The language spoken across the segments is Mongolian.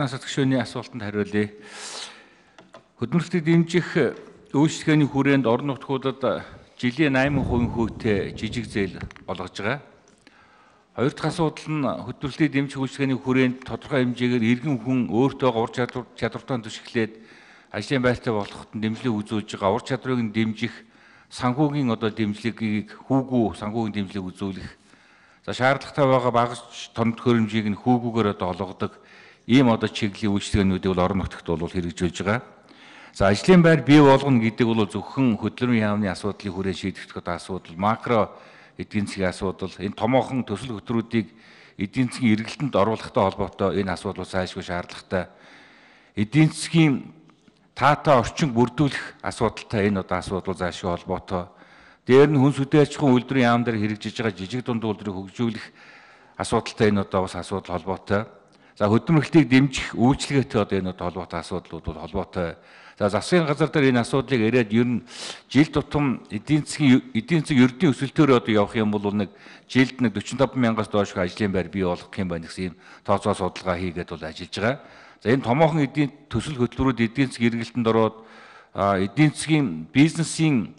Алтнаас төгшөөний асуултанд хариулъя. Хөдөлмөрлөлтийг дэмжих үйлчлэгээний хүрээнд орон нутгуудад жилийн 8% хүүтэй жижиг зээл олгож байгаа. Хоёр дахь асуудал нь хөдөлмөрлөлтийг дэмжих үйлчлэгээний хүрээнд тодорхой хэмжээгээр иргэн хүн өөртөө ур чадвартай түшиглээд ажлын байртай болоход дэмжлэг үзүүлж байгаа. Ур чадварыг нь дэмжих санхүүгийн дэмжлэгийг хүүгүү санхүүгийн дэмжлэг үзүүлэх. За шаардлагатай байгаа багаж тоног төхөөрөмжийг нь хүүгүүгээр олгодог ийм чиглэлийн үйлчлэгээнүүдийг орон нутагт хэрэгжүүлж байгаа. За ажлын байр бий болгоно гэдэг бол зөвхөн хөдөлмөрийн яамны асуудлыг хүрээ шийдэх асуудал, макро эдийн засгийн асуудал, энэ томоохон төсөл хөтөлбөрүүдийг эдийн засгийн эргэлтэнд оруулахтай холбоотой энэ асуудал зайлшгүй шаардлагатай. Эдийн засгийн таатай орчин бүрдүүлэх асуудалтай энэ асуудал зайлшгүй холбоотой. Дээр нь хүнс үдээ аж ахуйн үйлдвэрийн яам дээр хэрэгжиж байгаа жижиг дунд үйлдвэрийг хөгжүүлэх асуудалтай энэ бас асуудал холбоотой. За хөдөлмөрлөлтийг дэмжих үйлчлэгээтэй энэ холбоотой асуудлууд бол холбоотой. За засгийн газар дээр энэ асуудлыг яриад ер нь жил тутам эдийн засгийн ердийн өсөлтөөр явах юм бол жилд 45 мянгаас доош ажлын байр бий болгох юм байна гэсэн тооцоо судалгаа хийгээд ажиллаж байгаа. За энэ томоохон эдийн төсөл хөтөлбөрүүд эдийн засгийн эргэлтэнд ороод эдийн засгийн бизнесийн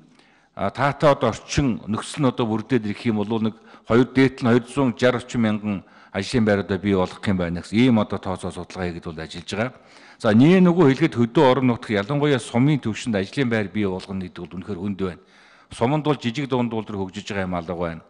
таатай орчин нөхцөл нь бүрдээд ирэх юм бол дээдл нь 260 орчим мянган ажлын байруудаа бий болгох юм байна гэсэн ийм тооцоо судалгаа хийгээд ажиллаж байгаа. За нөгөө хэлгээд хөдөө орон нутг ялангуяа сумын түвшинд ажлын байр бий болгоно гэдэг бол үнэхээр хүнд байна. Суманд бол жижиг дунд үйлдвэр хөгжиж байгаа юм алга байна.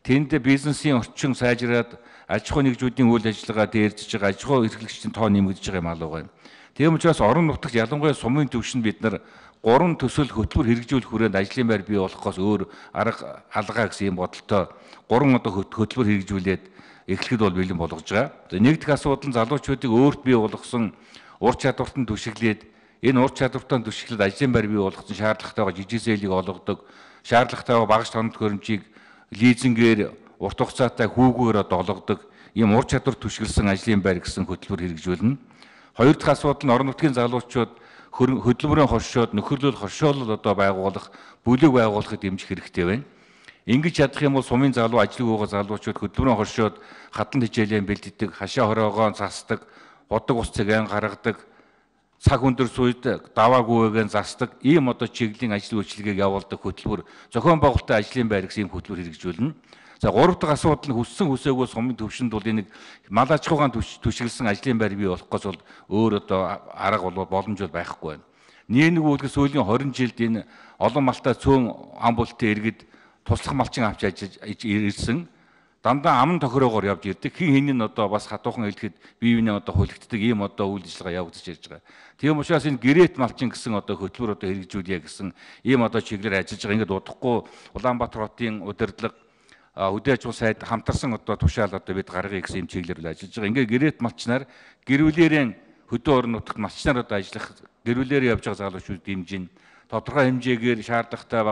Тэнд бизнесийн орчин сайжраад аж ахуй нэгжүүдийн үйл ажиллагаа дээржиж байгаа, аж ахуй эрхлэгчдийн тоо нэмэгдэж байгаа юм алга байна. Тийм учраас орон нутагт ялангуяа сумын түвшинд бид нар 3 төсөл хөтөлбөр хэрэгжүүлэх хүрээнд ажлын байр бий болохоос өөр арга алгаа гэсэн юм бодолтой 3 хөтөлбөр хэрэгжүүлээд эхлэхэд бол бэлэн болгож байгаа. Нэг дэх асуудал нь залуучуудыг өөрт бий болгосон ур чадвартанд түшиглээд энэ ур чадвартанд түшиглээд ажлын байр бий болгосон шаардлагатайгаа жижиг зээлийг олгодог, шаардлагатайгаа багаж тоног төхөөрөмжийг лизингээр урт хугацаатай хүүгүүгээр олгодог ийм ур чадвар түшиглсэн ажлын байр гэсэн хөтөлбөр хэрэгжүүлнэ. Хоёр дахь асуудал нь орон нутгийн залуучууд хөдөлмөрийн хоршоод нөхөрлөл хоршоолол байгуулах, бүлэг байгуулахыг дэмжих хэрэгтэй байна. Ингэж чадах юм бол сумын залуу ажлыг өгөө залуучууд хөдөлмөрийн хоршоод хатан хичээлэн бэлддэг, хашаа хороогоо засдаг, бодог ус цэгийн гаргадаг, цаг өндөр сүйд даваагүйгээр засдаг ийм чиглэлийн ажил үйлчилгээг явуулдаг хөтөлбөр зохион байгуулалтын ажлын байр гэсэн ийм хөтөлбөр хэрэгжүүлнэ. За гурав дахь асуудал нь хүссэн хүсээгүй сумын төвшөнд бол энэ мал аж ахуйн түшиглсэн ажлын байр бий болохгүйс бол өөр арга боломж байхгүй байна. Нэг үлгэр сүүлийн 20 жилд энэ олон малтай цөөн ам бултын иргэд туслах малчин авч ирсэн. Дандаа аман тохироогоор явж ирдэг. Хин хин нь бас хатуухан хэлэхэд бие биенээ хөлөгддөг ийм үйл ажиллагаа явагдаж ирж байгаа. Тийм учраас энэ гэрээт малчин гэсэн хөтөлбөр хэрэгжүүлье гэсэн ийм чиглэлээр ажиллаж байгаа. Ингээд удахгүй Улаанбаатар хотын удирдлага үдээ аж ахуй сайд хамтарсан тушаал бид гаргая гэсэн юм чиглэлээр ажиллаж байгаа. Ингээд гэрээт малчнаар гэрүүлээрээ хөдөө орон нутагт малчнаар ажиллах гэрүүлээрээ явж байгаа залуучууд дэмжин тодорхой хэмжээгээр шаардлагатай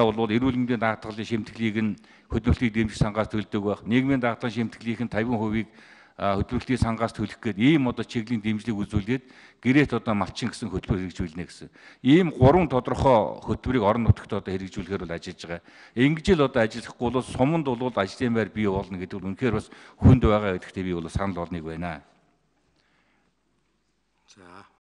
бол эрүүл мэндийн даатгалын шимтгэлийг нь хөдөлмөрлөлтийг дэмжих сангаас төлдөг байх. Нийгмийн даатгалын шимтгэлийнх нь 50% хөдөлмөрлөлтийн сангаас төлөх гээд ийм чиглэлийн дэмжлэг үзүүлээд гэрээт малчин гэсэн хөтөлбөр хэрэгжүүлнэ гэсэн. Ийм 3 тодорхой хөтөлбөрийг орон нутагт хэрэгжүүлэхээр ажиллаж байгаа. Ингэж л ажиллахгүй бол суманд бол ажлын байр бий болно гэдэг нь үнэхээр бас хүнд байгаа гэдэгтээ би санал болгоныг байна. За